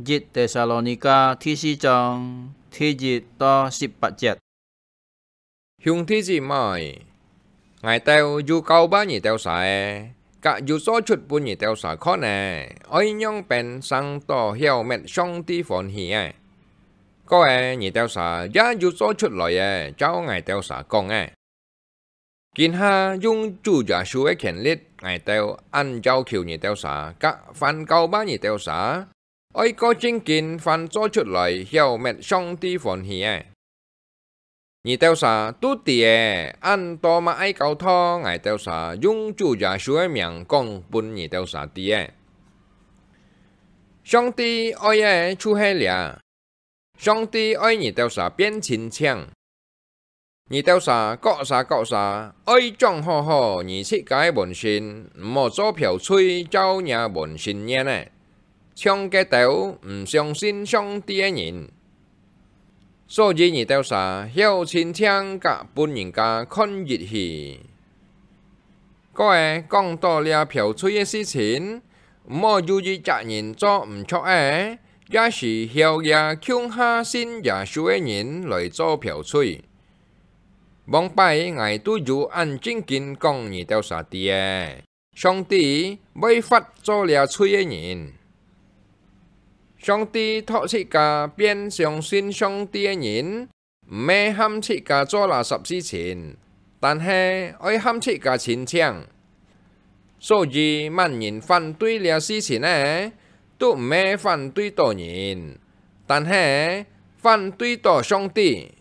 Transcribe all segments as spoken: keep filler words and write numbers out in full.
一帖撒羅尼迦第四章第一到十八節。兄弟姊妹，𠊎兜有交辦你兜儕个，甲有做出分你兜儕看个，愛仰般生到曉搣上帝歡喜个。過个，你兜儕也有做出來个，照𠊎兜儕講个。 今下用主耶穌个權力，𠊎兜恁要求你兜儕，甲凡交辦你兜儕，愛過精進，凡做出來曉搣上帝歡喜个。你兜儕都知个，恁多麼个教導，𠊎兜儕用主耶穌个名講分你兜儕知个。上帝愛个就係這，上帝愛你兜儕變親像， 你兜儕各儕各儕，愛掌好好你自家个本性，毋好做剽喙照若本性願个，像該兜毋相信上帝个人。所以你兜儕曉親像甲分人家看入去。過个，講到這剽喙个事情，毋好有一隻人做毋著个，也係曉這共下信耶穌个人來做剽喙。 往擺𠊎都有恁正經講你兜儕知个，上帝會罰做這喙个人。上帝擇自家變相信上帝个人，毋係喊自家做垃圾事情，但係愛喊自家親像。 所以，滿人反對這事情呢，都毋係反對到人，但係反對到上帝，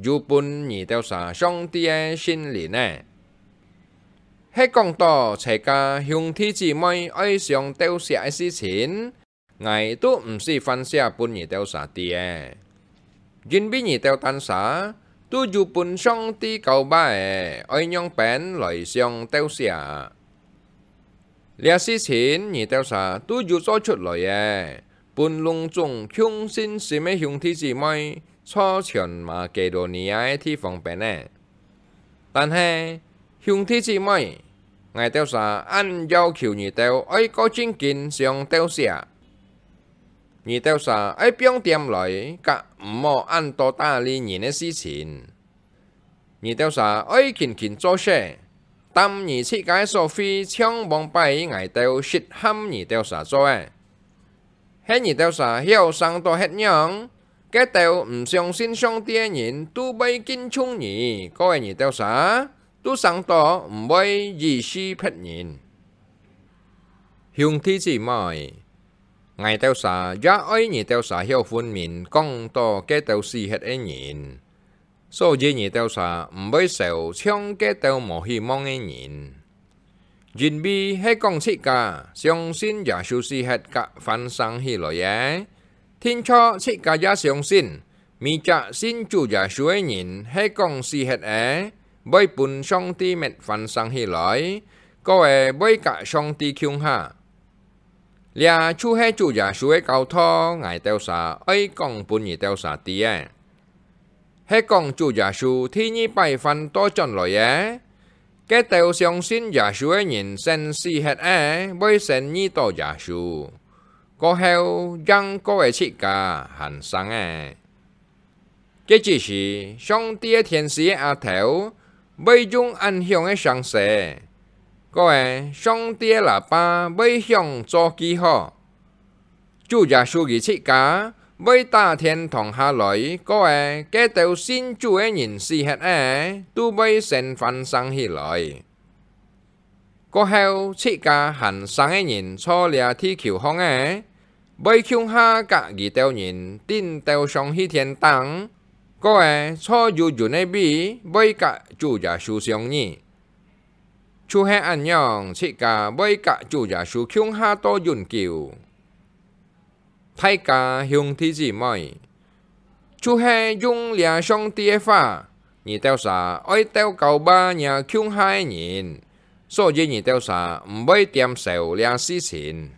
有分你兜儕上帝个聖靈呢。係講到自家兄弟姊妹愛相鬥惜个事情， 𠊎都毋使翻寫分你兜儕知个，因為你兜單儕都有分上帝交辦个，愛仰般來相鬥惜。這事情你兜儕都有做出來个，分攏總共信心个兄弟姊妹，在全馬其多尼亞个地方變个。 但係，兄弟姊妹，𠊎兜儕恁要求你兜愛過正經相鬥惜。你兜儕愛放恬來，甲毋好恁多搭理人个事情。你兜儕愛勤勤做事，擔你自家个所費，像往擺𠊎兜實喊你兜儕做个。 係你兜儕曉生到歇仰，該兜毋相信上帝个人都會敬重你，過个你兜儕都生到毋會歧視別人。兄弟姊妹，𠊎兜儕也愛你兜儕曉分明講到該兜死忒个人， 所以你兜儕毋會愁像該兜無希望个人。因為係講自家相信耶穌死忒甲翻生起來个，定著自家也相信，每隻信主耶穌个人係講死忒个，會分上帝搣翻生起來，過个會甲上帝共下。 這就係主耶穌个教導，𠊎兜儕愛講分你兜儕知个。係講主耶穌第二擺翻倒轉來个，該兜相信耶穌个人先死忒个，會先遇到耶穌，過後正過个自家還生个。 該之時，上帝个天使个額頭會用恁響个聲勢，過个上帝个喇叭會響做記號。主耶穌佢自家會打天堂下來，過个該兜信主个人死忒个，都會先翻生起來。 過後，自家還生个人在這地球項个，會共下甲佢兜人頂到上去天頂，過个在有雲个位會甲主耶穌相遇。就係恁樣，自家會甲主耶穌共下到永久。 大家兄弟姊妹，就係用這上帝个話，你兜儕愛鬥交吧若共下个人，所以你兜儕毋會恬愁這事情。